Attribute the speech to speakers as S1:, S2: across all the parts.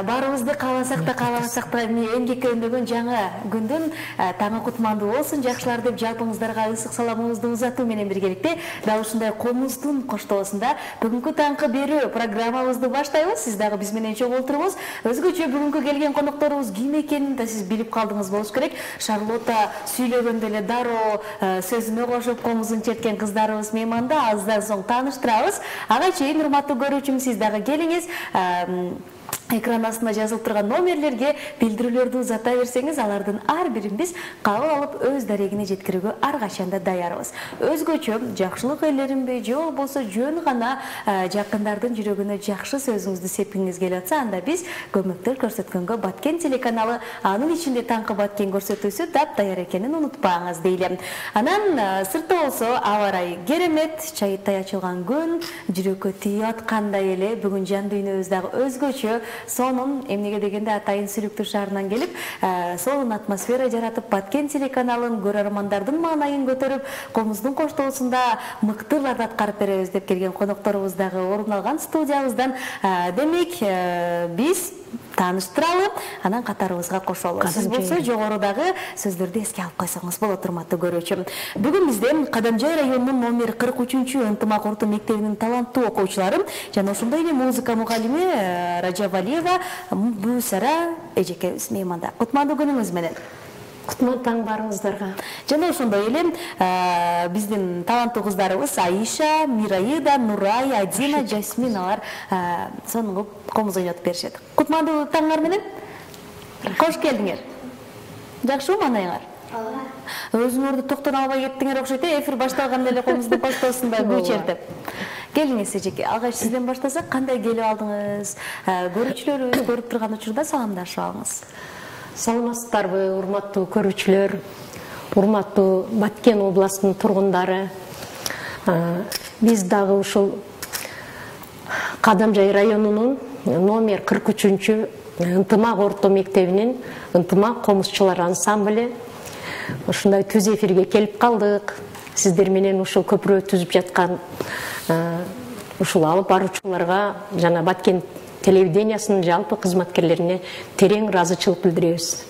S1: Баарыбызды кааласак да кааламасак да эмгекке өндөгөн жаңа күндүн таңы кутмандуу болсун жакшылар деп жалпыңыздарга ысык саламыбызды узатуу менен биргеликте дал ушундай комуздун коштоосунда бүгүнкү таңкы берүү программабызды баштайбыз. Сиз дагы биз менен чогуу отуруңуз. Өзгөчө бүгүнкү келген конокторубуз ким экенин да сиз билип калдыңыз болуш керек. Шарлотта сүйлөгөндө эле дароо сөзүнө кошуп комузун черткен кыздарыбыз мейманда. Аздан соң тааныштырабыз. Ага чейин урматтуу көрүүчүм, сиз дагы келиңиз. Экран астында жазылып турган номерлерге билдирүүлөрдү узата берсеңиз, алардын ар бирин биз кабыл алып өз дарегине жеткирүүгө ар качан да даярбыз. Өзгөчө жакшылык элеринби же болбосо жөн гана жакындардын жүрөгүнө жакшы сөзүңүздү сепкиңиз келип атса, анда биз көмөктөр көрсөткөнгө Баткен телеканалы, анын ичинде таңкы Баткен көрсөтүүсү даяр экенин унутпаңыз дейлем. Анан сыртта болсо аба ырайы керемет, чайыттай ачылган күн, жүрөккө тийип аткандай эле. Бүгүн жан дүйнөбүз дагы өзгөчө. Сонун эмнеге дегенде Атайын Сүлүктүү шаарынан келип, сонун атмосфера жаратып, Баткен телеканалын көрөрмандардын маанайын көтөрүп, комуздун коштоосунда мыктыларды аткарып беребиз деп келген конокторубуз дагы орун алган студиябыздан. Демек, биз тааныштыралы, анан катарыбызга кошолу. Сиз болсо жогорудагы сөздөрдү эске алып койсоңуз болот, урматтуу көрүүчүм. Бүгүн бизде Кадамжай районунун номер 43 ынтымак орто мектебинин таланттуу окуучулары жана ошондой эле музыка мугалими Ражабалиева Бусара эжекебиз мейманда. Кутмандуу күнүңүз менен.
S2: Кутман таң барыңыздарга.
S1: Жана ошондой эле биздин таланттуу кыздарыбыз Аиша, Мираида, Нурай, Адина, Жасмин алар сонун комуз ойнотуп беришет. Кутмандуу таңыңар менен. Кош келдиңер. Жакшыбы маанайыңар? Өзүңөрдү токтоно албай кеттиңер окшойт, эфир башталганда эле комуздун коштоосунда күү чертип. Келиңиз эжеке, алгач сизден баштасак, кандай келип алдыңыз? Көрүүчүлөрүбүз көрүп турган учурда саламдашып алыңыз.
S2: Саламатсыздарбы, урматтуу көрүүчүлөр, урматтуу Баткен областынын тургундары. Биз дагы ушул Кадамжай районунун номер 43 ынтымак орто мектебинин ынтымак комузчулар ансамблі ушундай түз эфирге келип калдык. Сиздер менен ушул көпүрө түзүп жаткан ушул алып баруучуларга жана Баткен телевидениясынын жалпы кызматкерлерине терең ыраазычылык билдиребиз.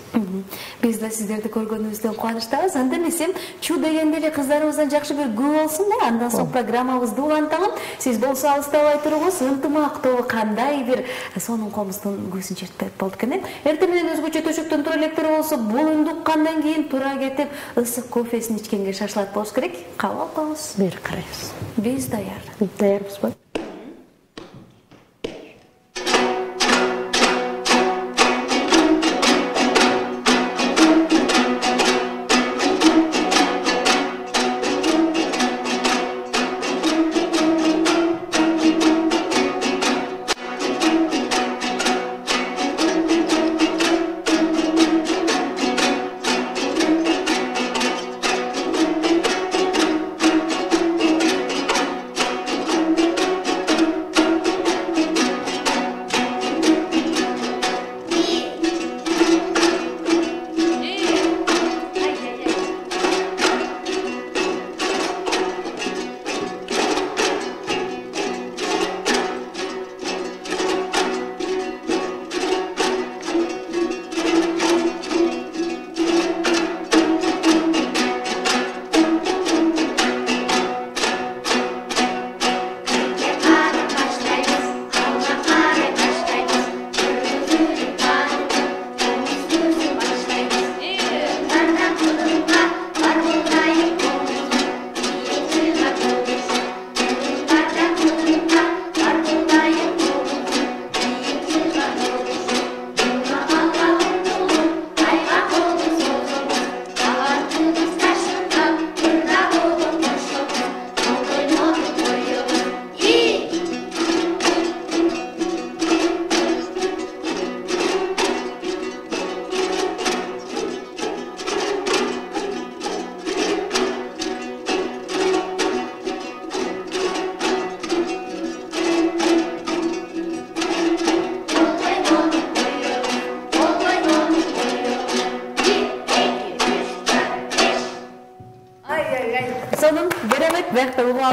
S1: Биз да сиздерди көргөнүбүздөн кубанычтабыз. Анда эмесе чу дегенде эле кыздарыбыздан жакшы бир күү болсун да, андан соң программабызды уланталы. Сиз болсо алыстабай туруңуз, ынтымак тобу кандай бир сонун комуздун күүсүн чертпек болду экен. Эртең менен өзгөчө төшөктөн тура электер болсо, бул үндү уккандан кийин тура кетип, ысык кофесин ичкенге шашылат болуш керек. Кабыл алып коебуз.
S2: Бери карайбыз.
S1: Биз даяр.
S2: Даярбызбы?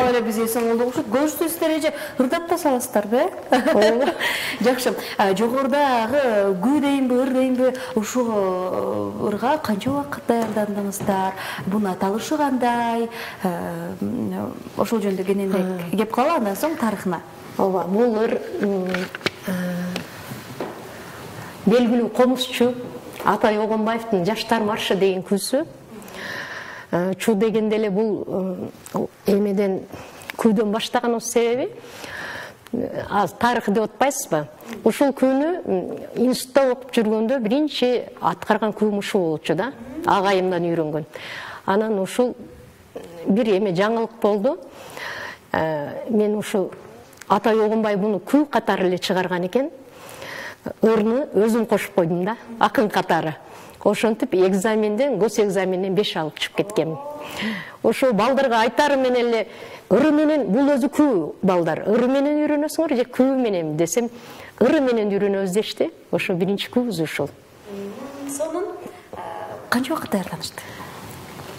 S1: Дал эле бизге соңолдук окшойт. Көрсөтөсүздөр эже ырдап да саласыздарбы? Жакшы. Жогорудагы күү дейинби, ыр дейинби, ушул ырга канча убакыт даярдандыңыздар? Бунун аталышы кандай? Ошол жөнүндө кененирээк кеп калалы, андан соң тарыхына.
S2: Ооба, бул ыр белгилүү комузчу Атай Огонбаевдин Жаштар маршы деген күүсү. Чу дегенде эле бул эмеден күүдөн баштаганыбыз себеби тарых деп атпайсызбы? Ушул күүнү институтта окуп жүргөндө биринчи аткарган күүм ушул болчу да, агайымдан үйрөнгөн. Анан ушул бир эме жаңылык болду. Мен ушул Атай Огонбай буну күү катары эле чыгарган экен. Ырны өзүм кошуп койдум да, акын катары. Ошентип экзаменден, гос экзаменден 5 алып чыгып кеткенмин. Ошо балдарга айтарым мен эле, ыры менен бул өзү күү балдар. Ыры менен үйрөнөсүңөр же күү менен десем, ыры менен үйрөнөбүз дешти. Ошо биринчи күүбүз ушул.
S1: Сонун канча убакыт даярданышты?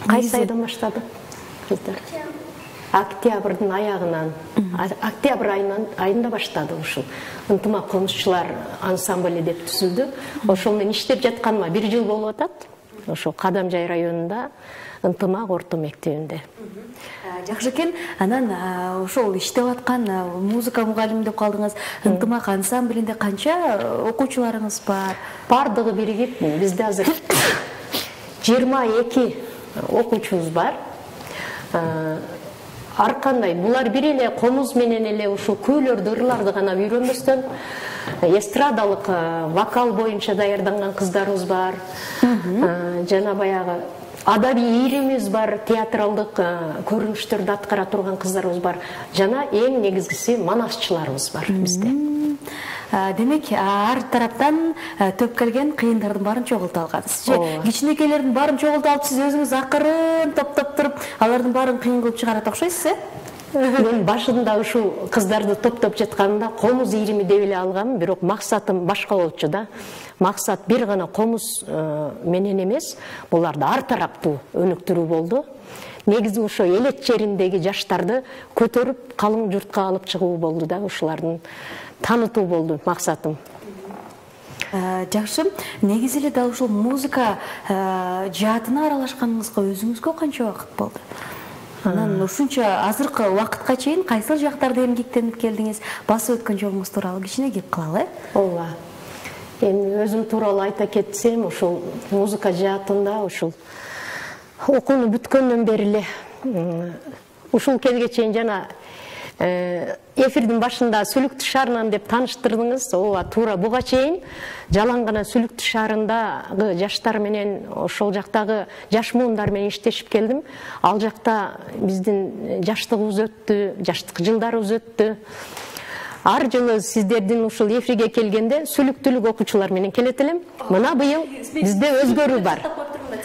S2: Кайсы айдан баштады? Кыздар. Октябрдын аягынан, октябрь айында баштады ушул. Ынтымак комузчулар ансамбль деп түзүлдү. Ошол менен иштеп жатканыма 1 жыл болуп атат. Ошол Кадамжай районунда Ынтымак орто мектебинде.
S1: Жакшы экен. Анан ошол иштеп аткан музыка мугалими деп калдыңыз. Ынтымак ансамблинде канча окуучуларыңыз бар?
S2: Бардыгы биригип бизде азыр 22 окуучубуз бар. Ар кандай булар бир эле комуз менен эле ушул күүлөрдү, ырларды гана үйрөнбөстөн эстрадалык вокал боюнча даярданган кыздарыбыз бар. Жана баягы адабий ийримибиз бар, театралдык көрүнүштөрдү аткара турган кыздарыбыз бар. Жана эң негизгиси манасчыларыбыз бар бизде.
S1: Демек, ар тараптан төп келген кыйындардын баарын чогултуп алгансыз. Кичинекейлердин баарын чогултуп алып, сиз өзүңүз акырын топтоп туруп, алардын баарын кыйын кылып чыгарат окшойсуз,
S2: Мен башында ушул кыздарды топтоп жатканымда комуз ийрими деп эле алгам, бирок максатым башка болчу да. Максат бир гана комуз менен эмес, буларды ар тараптуу өнүктүрүү болду. Негизи ошо элет жериндеги жаштарды көтөрүп, калың журтка алып чыгуу болду да, ушулардын танытуу болду максатым.
S1: Жакшы. Негизи эле дал ушул музыка жаатына аралашканыңызга өзүңүзгө канча убакыт болду? Анан ушунча азыркы убакытка чейин кайсыл жактарда эмгектенип келдиңиз? Басып өткөн жолуңуз тууралуу кичине кеп калалы.
S2: Ооба. Эми өзүм тууралуу айта кетсем, ушул музыка жаатында ушул окууну бүткөндөн бери эле ушул кезге чейин жана эфирдин башында Сүлүктүү шаарынан деп тааныштырдыңыз. Ооба, туура буга чейин жалаң гана Сүлүктүү шаарындагы жаштар менен, ошол жактагы жаш муундар менен иштешип келдим. Ал жакта биздин жаштыгыбыз өттү, жаштык жылдарыбыз өттү. Ар жылы сиздердин ушул эфирге келгенде сүлүктүүлүк окуучулар менен келет элем. Мына быйыл бизде өзгөрүү бар.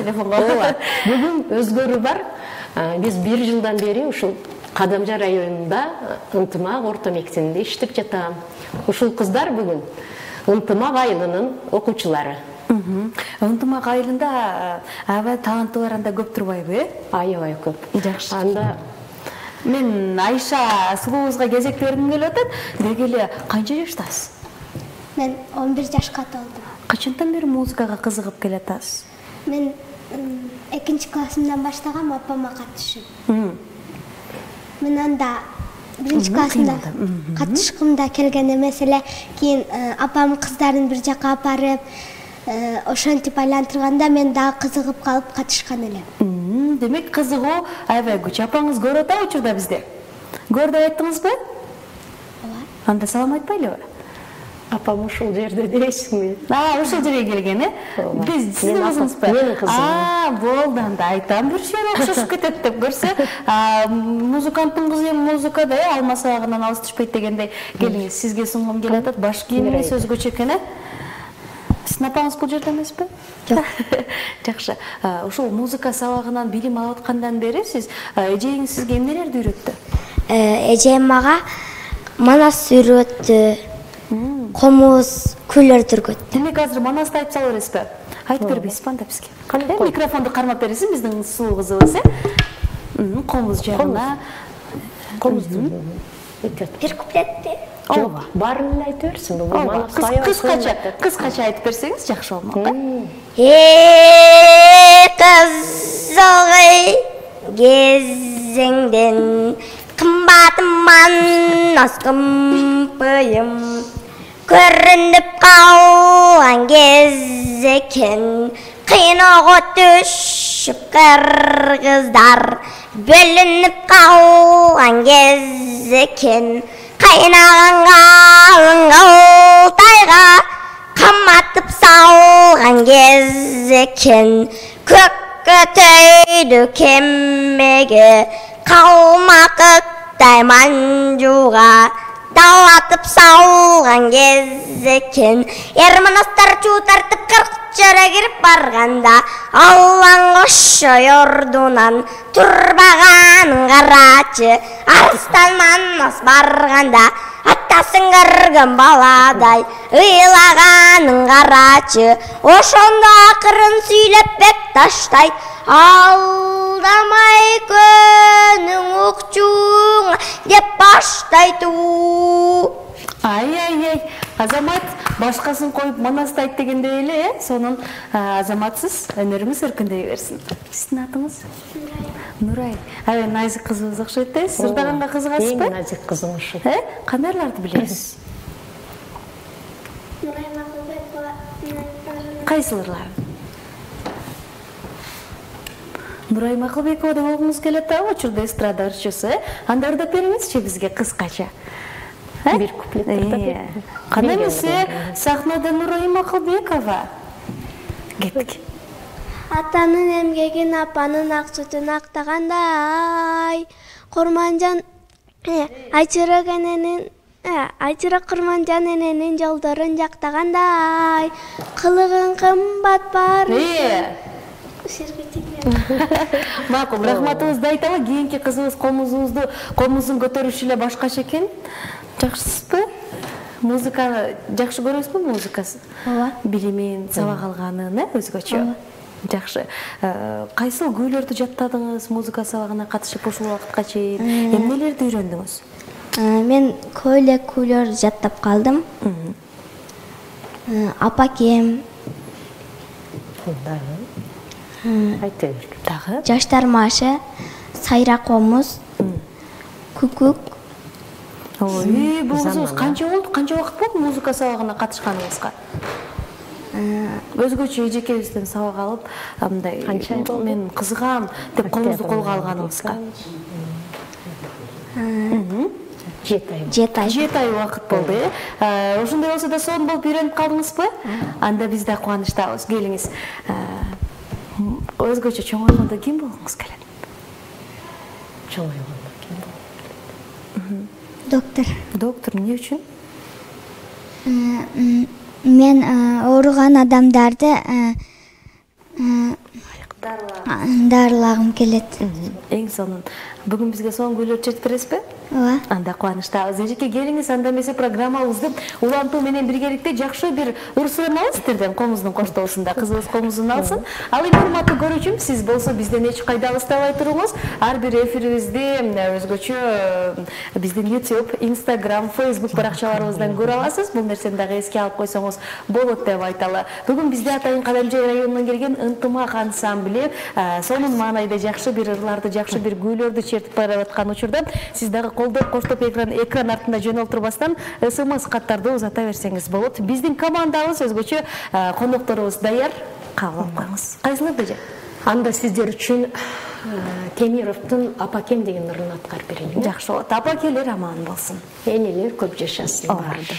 S2: Ооба, бүгүн өзгөрүү бар. Биз 1 жылдан бери ушул Кадамжай районунда Ынтымак орто мектебинде иштеп жатам. Ушул кыздар бүгүн Ынтымак айылынын окуучулары.
S1: Ынтымак айылында аябай таланттуулар анда көп турбайбы?
S2: Аябай көп.
S1: Жакшы.
S2: Анда
S1: мен Айша сулуубузга кезек бергим келип атат. Деги эле канча жаштасыз?
S3: Мен 11 жашка толдум.
S1: Качантан бери музыкага кызыгып келатасыз?
S3: Мен 2 классымдан баштагам, апама катышып. Мен анда 1 классымда катышкымда келген эмес эле, кийин апам кыздарын бир жака апарып, ошентип айлантырганда мен дагы кызыгып калып катышкан элем.
S1: Демек кызыгуу аябай күч. Апаңыз көрүп атат учурда бизде. Көрдүп айттыңызбы?
S3: Ооба.
S1: Анда салам айтпайлыбы?
S2: апам ушул жерде дейсиңби?
S1: Ушул жерге келген, Биз сиздин кызыңызбы?
S2: Менин кызым.
S1: Болду, анда айтам бир шер окшошуп кетет деп көрсө, музыканттын кызы музыкада алма сабагынан алыс түшпөйт дегендей. Келиңиз, сизге сунгум келип атат. Баш кийимиңиз өзгөчө экен, Сиздин апаңыз бул жерде эмеспи?
S2: Жок.
S1: Жакшы. Ушул музыка сабагынан билим алып аткандан бери сиз эжеңиз сизге эмнелерди үйрөттү?
S3: Эжем мага манас үйрөттү. Комуз, күйлөрдү үйрөттү.
S1: Демек азыр манасты айтып салып бересизби? Айтып бербейсизби анда бизге? Микрофонду кармап бересиз биздин сулуу кызыбыз, Комуз жагына.
S2: Комуздун.
S3: Бир куплетти.
S2: Жок, баарын эле айтып берсин. Бул
S1: кыскача айтып берсеңиз жакшы болмок.
S3: Кызыл кезеңден кымбатыман аскымпыйым көрүнүп калган кез экен. Кыйноого түшүп кыргыздар бөлүнүп калган кез экен. Кайнаган калың Алтайга каматып салган кез экен. Көккө төйдү кемеге калмактай манжуга далатып салган кез экен. Эрманастар чуу тартып кыркчара кирип барганда Аллаң кошо ордунан турбаган карачы. Арыстан манас барганда атасын кырган баладай ыйлаганын карачы. Ошондо акырын сүйлөп бек таштайт. Алдамай көнүң укчуңа деп баштайт.
S1: Ай, Азамат башкасын коюп манастайт дегендей эле, сонун Азаматсыз өнөрүңүз өркүндөй берсин. Сиздин атыңыз? Нурай. Аябай назик кызыбыз окшойт да. Сиз ырдаганга кызыгасызбы?
S2: Эң назик кызым ошо.
S1: Кандайларды билесиз?
S3: Нурай Макулбекова.
S1: Кайсылырларын? Нурай Макулбекова деп алгыңыз келет да, учурда эстрада ырчысы. Анда ырдап бериңизчи бизге кыскача.
S2: Бир куплет ырдап бериңиз.
S1: Кандай эмесе сахнада Нурай Макулбекова. Кеттик.
S3: Атанын эмгегин апанын ак сүтүн актагандай Курманжан Айчырак эненин Айчырак Курманжан эненин жолдорун жактагандай кылыгын кымбат бар.
S1: Макул, рахматыбызды айталы. Кийинки кызыбыз комузун көтөрүшү эле башкача экен. Жакшысызбы? Музыканы жакшы көрөсүзбү, музыкасын?
S3: Ооба.
S1: Билимин, сабак алганын, өзгөчө. Жакшы. Кайсыл күүлөрдү жаттадыңыз музыка сабагына катышып ушул убакытка чейин? Эмнелерди үйрөндүңүз?
S3: Мен көп эле күүлөр жаттап калдым. Апакем,
S1: Дагы?
S3: Жаштар маршы, Сайра комуз, Күкүк.
S1: Ой, бул кызыбыз канча болду? Канча убакыт болду музыка сабагына катышканыңызга? Өзгөчө эжекебизден сабак алып, мындай мен кызыгам деп колуңузду колго алганыңызга. 7 ай убакыт болду. Ошондой болсо да сонун болуп үйрөнүп калдыңызбы? Анда биз да кубанычтабыз. Келиңиз. Өзгөчө чоңойгондо ким болгуңуз келет?
S2: Чоңойгондо ким болот?
S3: Доктор.
S1: Доктор эмне үчүн?
S3: Мен ооруган адамдарды дарылагым келет.
S1: Эң сонун. Бүгүн бизге сонун күүлөр чечип бересизби?
S3: Ооба.
S1: Анда кубанычтабыз. Эжеке келиңиз, анда эмесе программабызды улантуу менен биргеликте жакшы бир ырсын алыңыз сиздерден комуздун коштоосунда. Кызыбыз комузун алсын. Ал эми урматтуу көрүүчүм, сиз болсо бизден эч кайда алыстабай туруңуз. Ар бир эфирибизди өзгөчө биздин YouTube, Instagram, Facebook баракчаларыбыздан көрө аласыз. Бул нерсени дагы эске алып койсоңуз болот деп айталы. Бүгүн бизде Атайын Кадамжай районунан келген Ынтымак ансамбле сонун маанайда жакшы бир ырларды, жакшы бир күүлөрдү чертип бараткан учурда сиз дагы колдоп коштоп экран артында жөнөлтүрбастан СМС каттарды узата берсеңиз болот. Биздин командабыз өзгөчө конокторубуз даяр. Кабыл алып коюңуз. Кайсыларды же?
S2: Анда сиздер үчүн Темировдун Апакем деген ырын аткарып берейин.
S1: Жакшы болот. Апакелер аман болсун.
S2: Энелер көп жашасын. Барды.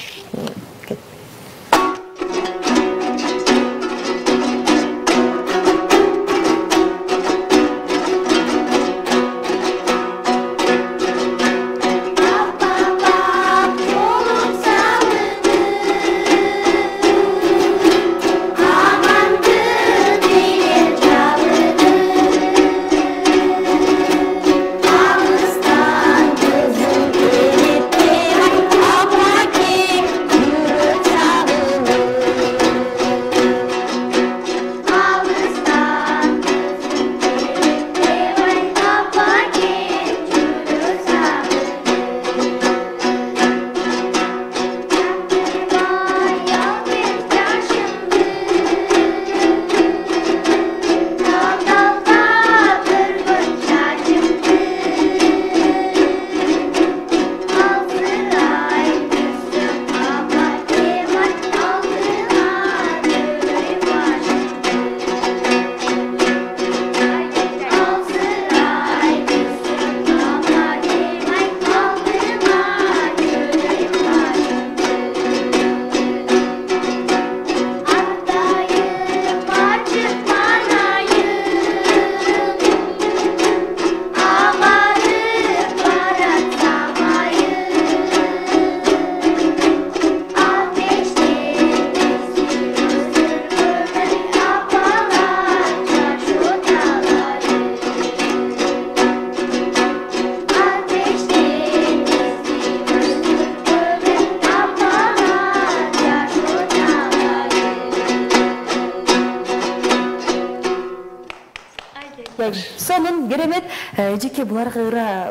S1: сонун керемет. Эжеке буларга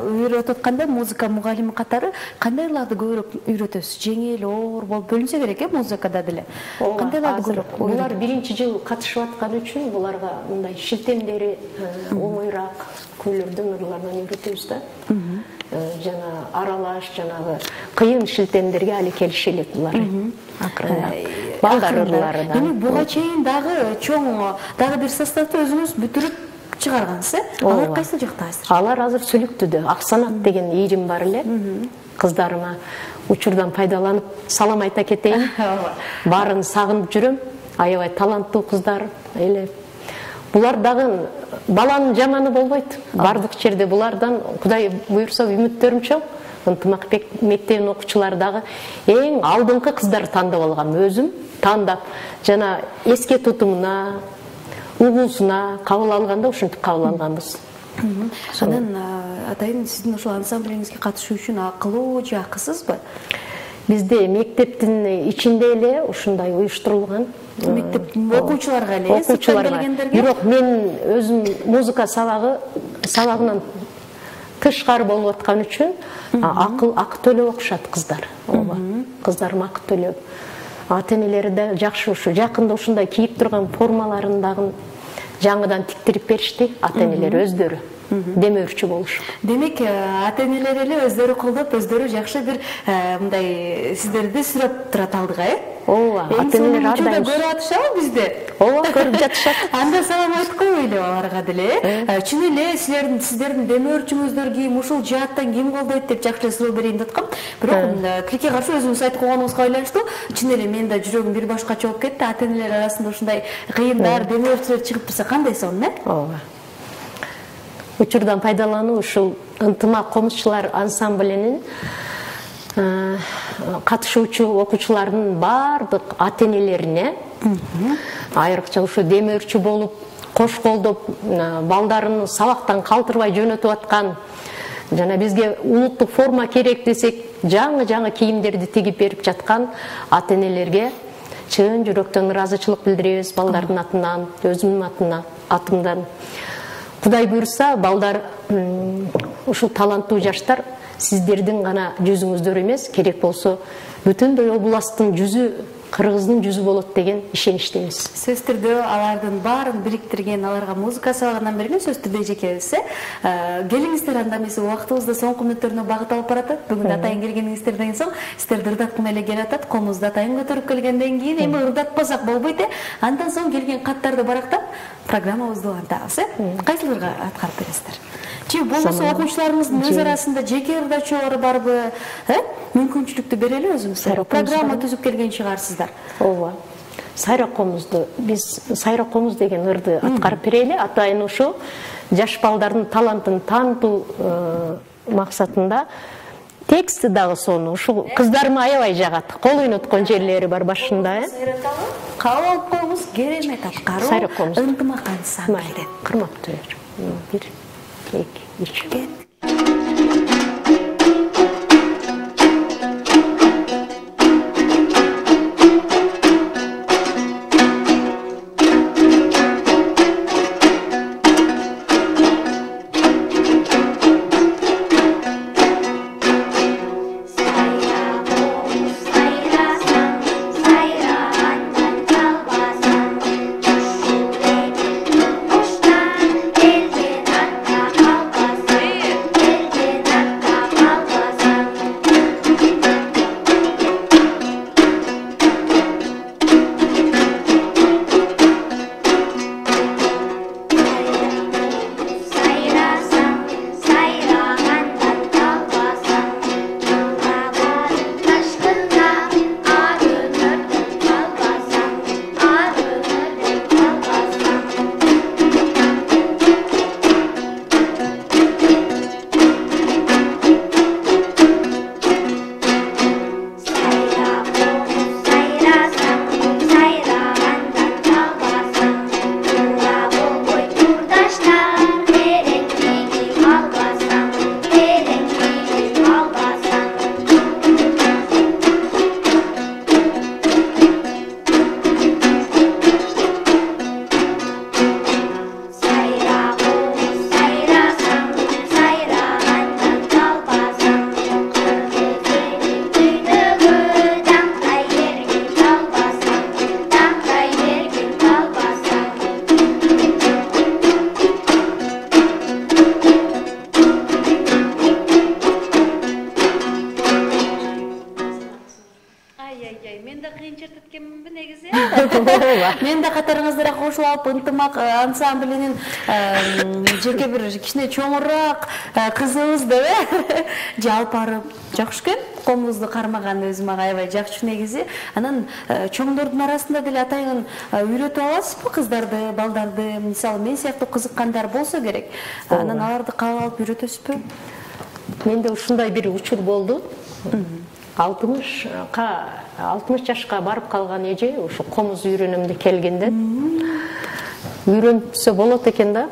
S1: үйрөтүп атканда музыка мугалими катары кандайларды көбүрөөк үйрөтөсүз? Жеңил, оор болуп бөлүнсө керек музыкада деле. Кандайларды көбүрөөк?
S2: Булар биринчи жыл катышып аткан үчүн буларга мындай шилтемдери оңоюраак күйлөрдөн ырлардан үйрөтөбүз да. Жана аралаш, жанагы кыйын шилтемдерге али келише элек булар. Балдар ырлары да.
S1: Демек буга чейин дагы чоң дагы бир составты өзүңүз бүтүрүп чыгаргансыз, алар кайсыл жакта азыр?
S2: Алар азыр Сүлүктүдө Аксанат деген ийрим бар эле. Кыздарыма учурдан пайдаланып салам айта кетейин. Баарын сагынып жүрөм. Аябай таланттуу кыздар эле. Булар дагы баланын жаманы болбойт. Бардык жерде булардан Кудай буйрса үмүттөрүм чоң. Ынтымак мектебинин окуучулары дагы эң алдыңкы кыздар тандап алгам. Өзүм тандап жана эске тутумуна, угуусуна кабыл алганда ушинтип кабыл алганбыз.
S1: Анан атайын сиздин ошол ансамблиңизге катышуу үчүн акылуу же акысызбы?
S2: Бизде мектептин ичинде эле ушундай уюштурулган.
S1: Мектеп окуучуларга эле,
S2: келгендерге. Бирок мен өзүм музыка сабагынан тышкары болуп аткан үчүн акы төлөп окушат кыздар. Ооба. Кыздарым акы төлөп. Ата-энелери да жакшы ушу жакында ушундай кийип турган формаларын дагы жаңыдан тиктирип беришти. Ата-энелер өздөрү демөөрчү болуш.
S1: Демек, ата-энелер эле өздөрү колдоп, өздөрү жакшы бир мындай сиздерди сүрөт турат алдыга,
S2: Ооба, ата-энелер ар дайым
S1: көрүп атышабы бизде?
S2: Ооба, көрүп жатышат.
S1: Анда салам айтып коелу аларга деле. Чын эле сиздердин демөөрчүңүздөр ким, ушул жааттан ким колдойт деп жакшы эле суроо берейин деп аткам. Бирок тилекке каршы өзүңүз айтып койгонуңузга байланыштуу, чын эле менин да жүрөгүм бир башкача болуп кетти. Ата-энелер арасында ушундай кыйындар, демөөрчүлөр чыгып турса кандай сонун,
S2: Ооба. Учурдан пайдалануу ушул ынтымак комузчулар ансамблинин катышуучу окуучулардын бардык ата-энелерине, айрыкча ушу демөөрчү болуп, кош колдоп, балдарын сабактан калтырбай жөнөтүп аткан, жана бизге улуттук форма керек десек, жаңы кийимдерди тигип берип жаткан ата-энелерге чын жүрөктөн ыраазычылык билдиребиз балдардын атынан, өзүмдүн атымдан. Кудай буйрса, балдар ушул таланттуу жаштар сиздердин гана жүзүңүздөр эмес, керек болсо бүтүндөй областтын жүзү, Кыргыздын жүзү болот деген ишеничтебиз.
S1: Сөз түрдө алардын баарын бириктирген, аларга музыка сабагынан берген сөз түрдө эжекебиз. Келиңиздер анда эмес, убактыбызды соңку мүнөттөрүнө багыт алып баратат. Бүгүн атайын келгениңиздерден соң сиздерди ырдаткым эле келип атат. Комузду атайын көтөрүп келгенден кийин эми ырдатпасак болбойт. Андан соң келген каттарды барактап программабызды улантабыз. Кайсыларга аткарып бересиздер? Же болбосо окуучуларыңыздын өз арасында жеке ырдачулары барбы? Мүмкүнчүлүктү берели өзүңүздөр. Программа түзүп келген чыгарсыздар.
S2: Ооба. Сайрак комузду биз Сайрак комуз деген ырды аткарып берели. Атайын ушу жаш балдардын талантын таанытуу максатында тексти дагы сону ушу кыздарыма аябай жагат. Кол ойноткон жерлери бар башында.
S1: Кабыл алып коюңуз, керемет аткаруу.
S2: Сайрак комуз.
S1: Ынтымак ансамбль.
S2: Кырмактуулар. 1, 2, 3.
S4: Yeah.
S1: Мен да кыйын чертет экенминби негизи. Мен да катарыңыздара кошулуп алып ынтымак ансамблинин жеке бир кичине чоңураак кызыбыз деп жалп арып жакшы экен. Комузду кармаган өзү мага аябай жакшы негизи. Анан чоңдордун арасында деле атайын үйрөтүп аласызбы кыздарды, балдарды? Мисалы мен сыяктуу кызыккандар болсо керек. Анан аларды кабыл алып үйрөтөсүзбү?
S2: Менде ушундай бир учур болду. 60 жашка барып калган эже ушу комуз үйрөнөм деп келгенде үйрөнсө болот экен да.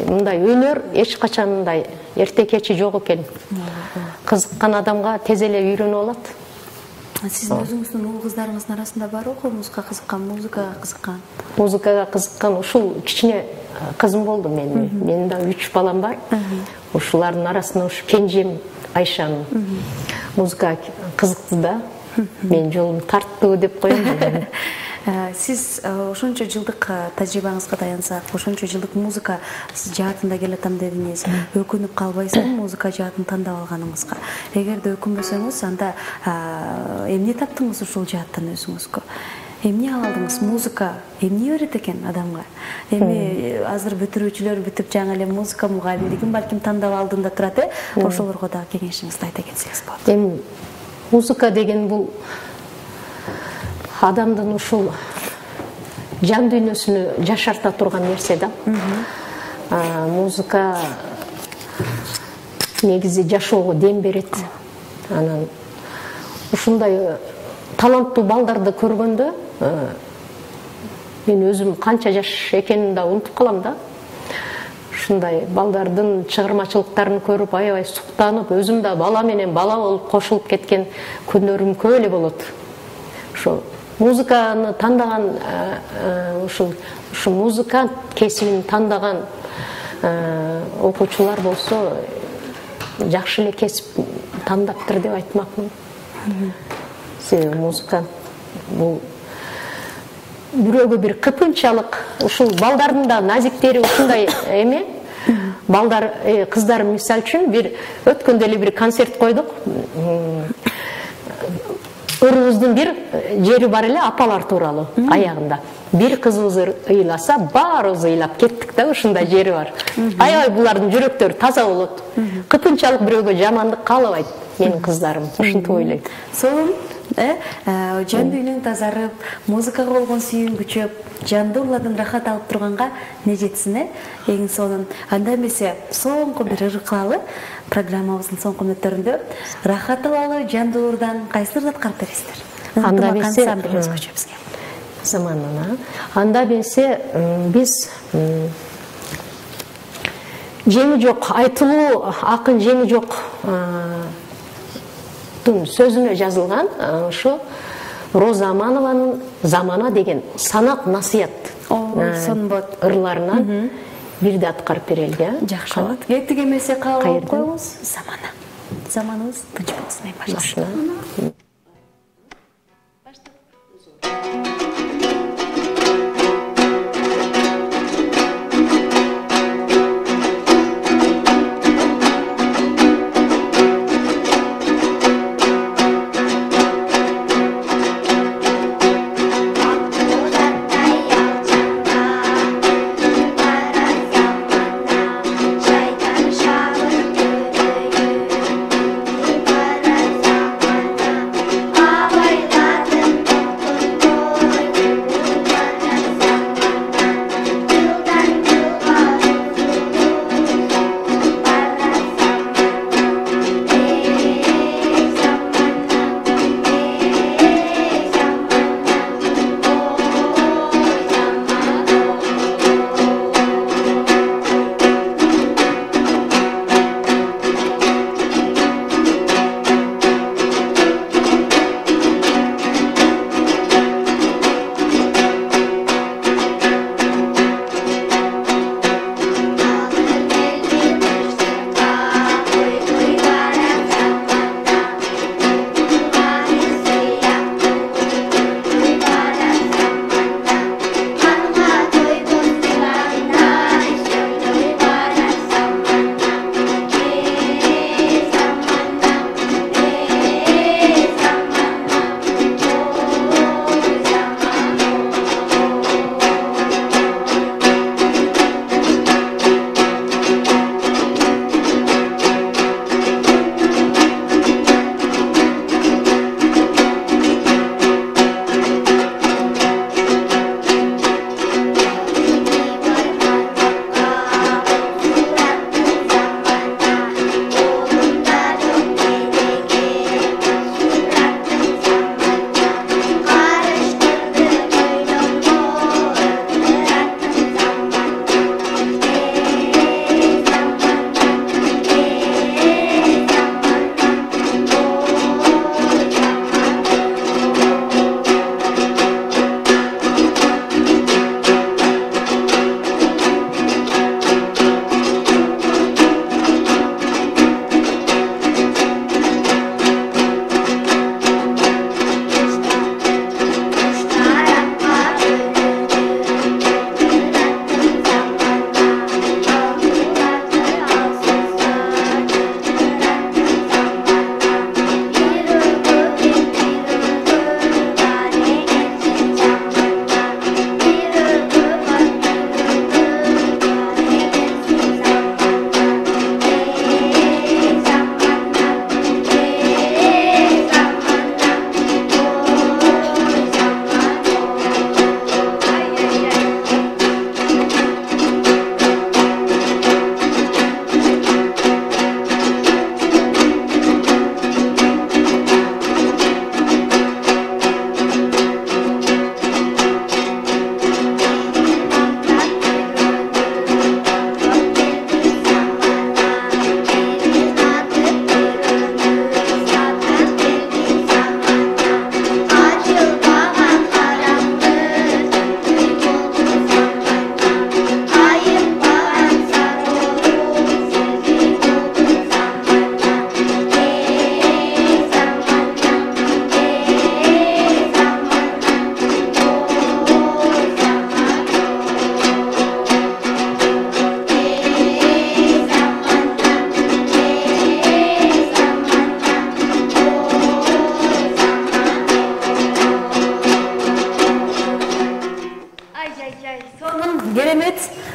S2: Мындай өнөр эч качан мындай эрте кечи жок экен. Кызыккан адамга тез эле үйрөнүп алат.
S1: Сиздин өзүңүздүн уул кыздарыңыздын арасында барбы комузга кызыккан, музыкага кызыккан?
S2: Музыкага кызыккан ушул кичине кызым болду менин. Менин да 3 балам бар. Ушулардын арасында ушу кенжем Айшанын музыкага кызыкты да. Мен жолум тарттуу деп коем.
S1: Сиз ошончо жылдык тажрыйбаңызга таянсак, ошончо жылдык музыка жаатында келатам дедиңиз. Өкүнүп калбайсызбы музыка жаатын тандап алганыңызга? Эгерде өкүнбөсөңүз, анда эмне таптыңыз ушул жааттан өзүңүзгө? Эмне алдыңыз? Музыка эмне берет экен адамга? Эми азыр бүтүрүүчүлөр бүтүп жаңы эле музыка мугалимдигин балким тандап алдында турат, ошолорго дагы кеңешиңизди айта кетсеңиз болот.
S2: Эми музыка деген бул адамдын ушул жан дүйнөсүнү жашарта турган нерсе да. Музыка негизи жашоого дем берет. Анан ушундай таланттуу балдарды көргөндө мен өзүм канча жаш экенин да унутуп калам да. Ушундай балдардын чыгармачылыктарын көрүп аябай суктанып, өзүм да бала менен бала болуп кошулуп кеткен күнөрүм көп эле болот. Ошо музыканы тандаган ушу музыкант кесибин тандаган окуучулар болсо жакшы эле кесип тандаптыр деп айтмакмын. Себеби музыкант бул бирөөгө бир кыпынчалык, ушул балдардын да назиктери ушундай эме. Балдар, кыздар мисал үчүн бир өткөндө эле бир концерт койдук. Өрүбүздүн бир жери бар эле апалар тууралуу аягында. Бир кызыбыз ыйласа, баарыбыз ыйлап кеттик да, ушундай жери бар. Аябай булардын жүрөктөрү таза болот. Кыпынчалык бирөөгө жамандык каалабайт менин кыздарым. Ушинтип ойлойм.
S1: Сонун, жан дүйнөң тазарып, музыкага болгон сүйүүң күчөп, жандууладан рахат алып турганга не жетсин, эң сонун. Анда эмесе соңку бир ыркалалы программабыздын соңку мүнөттөрүндө рахат алалы жандуулардан кайсыларды аткарып бересиздер?
S2: Анда эмесе
S1: заманына.
S2: Анда эмесе биз жеңи жок, айтылуу акын жеңи жок сөзүнө жазылган ошо Роза Аманованын «Замана» деген санак насыят ырларынан бирди аткарып берели.
S1: Жакшы болот. Кеттик эмесе кабыл алып коебуз. Замана. Заманыбыз тынч болсун эң башында.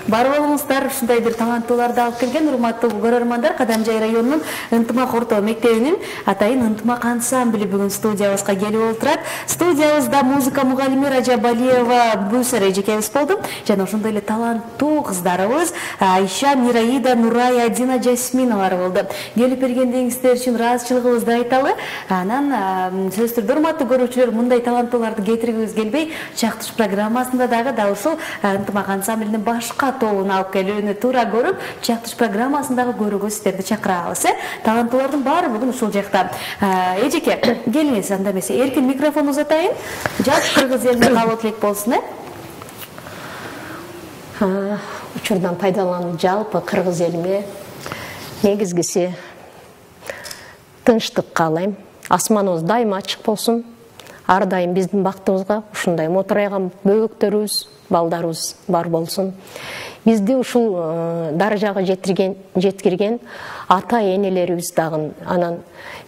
S1: бар болуңуздар. Ушундай бир таланттууларды алып келген урматтуу көрөрмандар, Кадамжай районунун Ынтымак орто мектебинин атайын Ынтымак ансамбли бүгүн студиябызга келип отурат. Студиябызда музыка мугалими Ражабалиева Бусара эжекебиз болду. Жана ошондой эле таланттуу кыздарыбыз Айша, Мираида, Нурай, Адина, Жасминалар болду. Келип бергендигиңиздер үчүн ыраазычылыгыбызды айталы. Анан сөзсүз түрдө урматтуу көрүүчүлөр, мындай таланттууларды кетиргибиз келбей, Чактыш программасында дагы ушул Ынтымак ансамблинин башка тобун алып келүүнү туура көрүп, Чактыш программасындагы көрүүгө сиздерди чакырабыз. Таланттуулардын баары бүгүн ушул жакта. Эжеке, келиңиз, анда эмесе эркин микрофон узатайын. Жалпы кыргыз элине кабыл элек болсун.
S2: Учурдан пайдаланып жалпы кыргыз элине негизгиси тынчтык каалайм. Асманыбыз дайыма ачык болсун. Ар дайым биздин бактыбызга ушундай мотурайган бөбөктөрүбүз, балдарыбыз бар болсун. Бизди ушул даражага жеткирген ата энелерибиз дагы, анан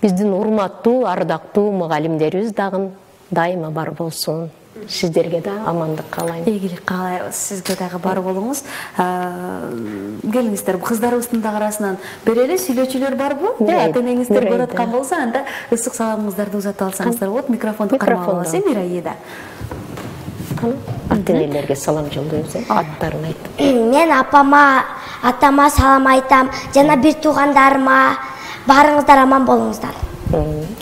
S2: биздин урматтуу, ардактуу мугалимдерибиз дагы дайыма бар болсун. Сиздерге да амандык каалайм.
S1: Ийгилик каалайбыз. Сизге дагы бар болуңуз. Келиңиздер, кыздарыбыздын дагы арасынан бир эле сүйлөөчүлөр барбы? Ата энеңиздер көрүп аткан болсо, анда ысык саламыңыздарды узатып алсаңыздар болот. Микрофонду кармап аласыз, Мираида.
S2: Ата энелерге салам жолдойбуз, аттарын айтып.
S3: Мен атама салам айтам, жана бир туугандарыма, баарыңыздар аман болуңуздар.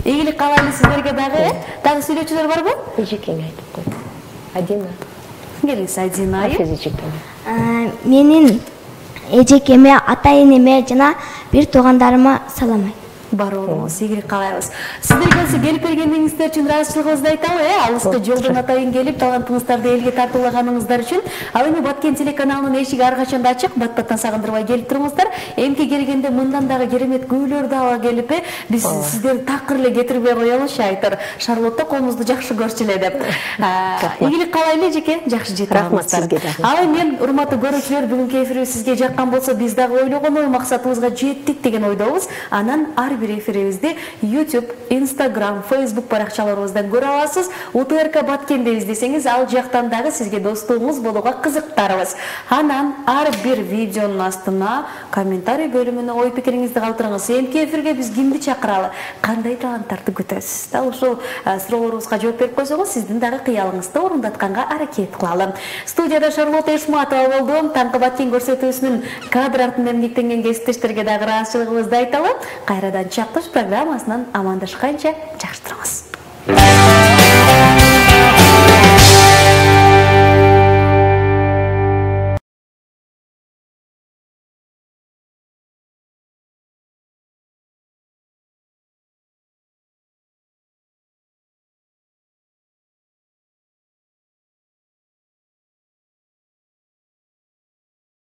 S1: Ийгилик каалайлы сиздерге дагы. Дагы сүйлөөчүлөр барбы?
S2: Эжекең айтып койду. Адина.
S1: Келиңиз, Адина.
S3: Менин эжекеме, ата энеме жана бир туугандарыма салам айтам.
S1: Бар болуңуз, ийгилик каалайбыз. Сиздерге келип бергениңиздер үчүн ыраазычылыгыбызды айталы. Алыскы жолдон атайын келип, талантыңыздарды элге тартуулаганыңыздар үчүн. Ал эми Баткен телеканалынын эшиги ар качан ачык. Бат-баттан сагындырбай келип туруңуздар. Эмки келгенде мындан дагы керемет күйлөрдү ала келип, биз сиздерди такыр эле кетирбей коелучу, айтыр. Шарлотта колуңузду жакшы көрчү эле деп. Ийгилик каалайлы эжеке, жакшы жетип
S2: рахмат сизге дагы.
S1: Ал эми урматтуу көрүүчүлөр, бүгүнкү эфирибиз сизге жаккан болсо, биз дагы ойлогон максатыбызга жеттик деген ойдобуз. Анан ар бир эфирибизди YouTube, Instagram, Facebook баракчаларыбыздан көрө аласыз. УТРК Баткен деп издесеңиз, ал жактан дагы сизге достугуңуз болууга кызыктарыбыз. Анан ар бир видеонун астына комментарий бөлүмүнө ой пикириңизди калтырыңыз. Эмки эфирге биз кимди чакыралы, кандай таланттарды күтөсүз? Дал ушул суроолорубузга жооп берип койсоңуз, сиздин дагы кыялыңызды орундатканга аракет кылалы. Студияда Шарлотта Эшматова болду. Таңкы Баткен көрсөтүүсүнүн кадр артында эмгектенген кесиптештерге дагы ыраазычылыгыбызды айталы. Кайрадан Чактыш программасынан амандашканча жакшы туруңуз.